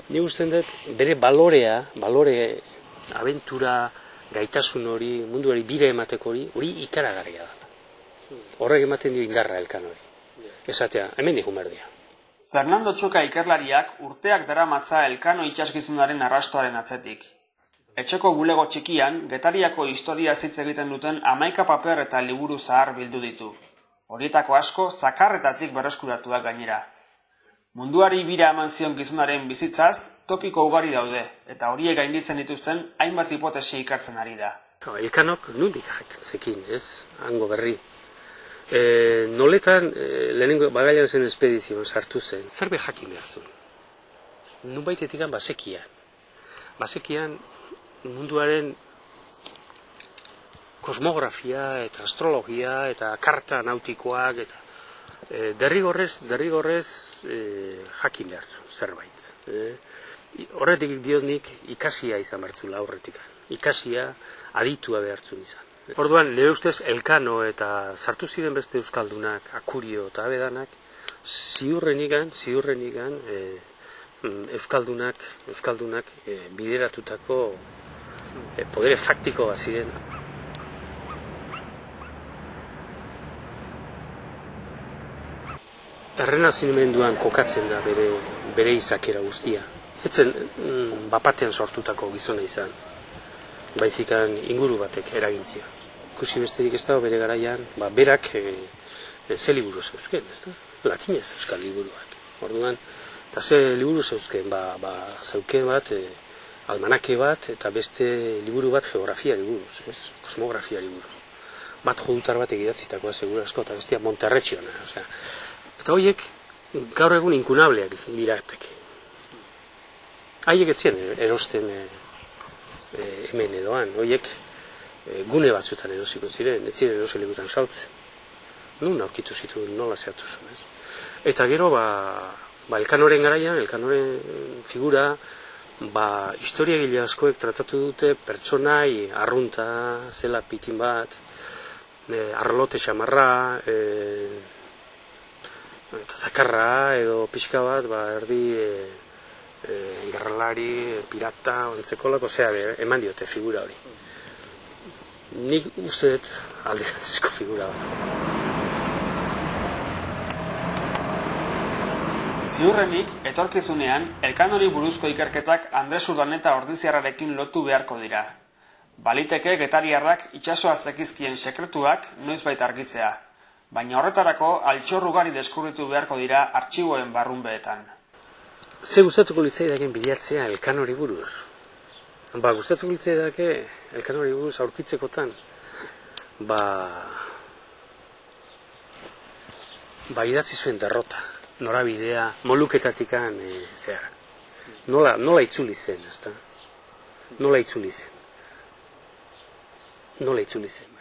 Ni usten dut, bere balore, abentura, gaitasun hori, munduari bire emateko hori ikaragarria da. Horrek ematen dio indarra Elkanori. Esatea, hemen digun berdia. Fernando Txoka ikerlariak urteak daramatza Elkano itsasgizonaren arrastoaren atzetik. Etxeko bulego txikian, Getariako historia hitz egiten duten 11 paper eta liburu zahar bildu ditu. Horietako asko zakarretatik berreskuratuak gainera. Munduari bira eman zion gizonaren bizitzaz, topiko ugari daude, eta horiek gainditzen dituzten hainbat hipotesi ikartzen ari da. Elkanok nondik zekin, ez? Hango berri. Noletan, lehenengo bagailan zen espedizioan sartu zen, zerbe jakin behar zuen. Nunbaitetik basekian. Basekian munduaren kosmografia eta astrologia eta karta nautikoak eta derrigorrez jakin behar zuen zerbait. Horretik diot nik ikasia izan bertzula horretik. Ikasia aditua behar zuen izan. Orduan, nire ustez Elkano eta sartu ziren beste euskaldunak, Akurio eta Abedanak, ziurrenikan euskaldunak bideratutako podere faktiko bat ziren. Errenazimenduan kokatzen da bere izakera guztia. Etzen bapatean sortutako gizona izan, baizikan inguru batek eragintzia. Ikusi besterik ez dago bere garaian, berak ze liburu zeuzken, ez da? Latinez euskal liburuak. Orduan, eta ze liburu zeuzken, zeuken bat, almanake bat, eta beste liburu bat geografiari buruz, kosmografiari buruz. Bat jodutar bat egidatzitakoa segura asko, eta bestia Monterretxiona. Eta horiek gaur egun inkunableak lirateke. Haiek ez ziren erosten hemen edoan, horiek gune batzuetan erosiko ziren, ez ziren eroselikutan saltzen. Nun aurkitu zituen, nola zehatu zuen. Eta gero, Elkanoren garaian, Elkanoren figura, historiagile askoek tratatu dute pertsonai arrunta, zela pitin bat, arlote xamarra, eta zakarra edo pixka bat, erdi gerralari, pirata, ontzekolako, eman diote figura hori. Nik uste dut alderantzizko figura da. Ziurrenik, etorkizunean, Elkanori buruzko ikerketak Andres Urdaneta ordiziarrarekin lotu beharko dira. Baliteke getariarrak itsasoa zekizkien sekretuak noizbait argitzea, baina horretarako altxor ugari deskubritu beharko dira artxiboen barrunbeetan. Ze gustatuko litzaidaken bilatzea Elkanori buruz? Gustatuko litzaidake Elkanori buruz aurkitzekotan, idatzi zuen derrota, norabidea, moluketatikan, nola itzuli zen, ezta? Nola itzuli zen.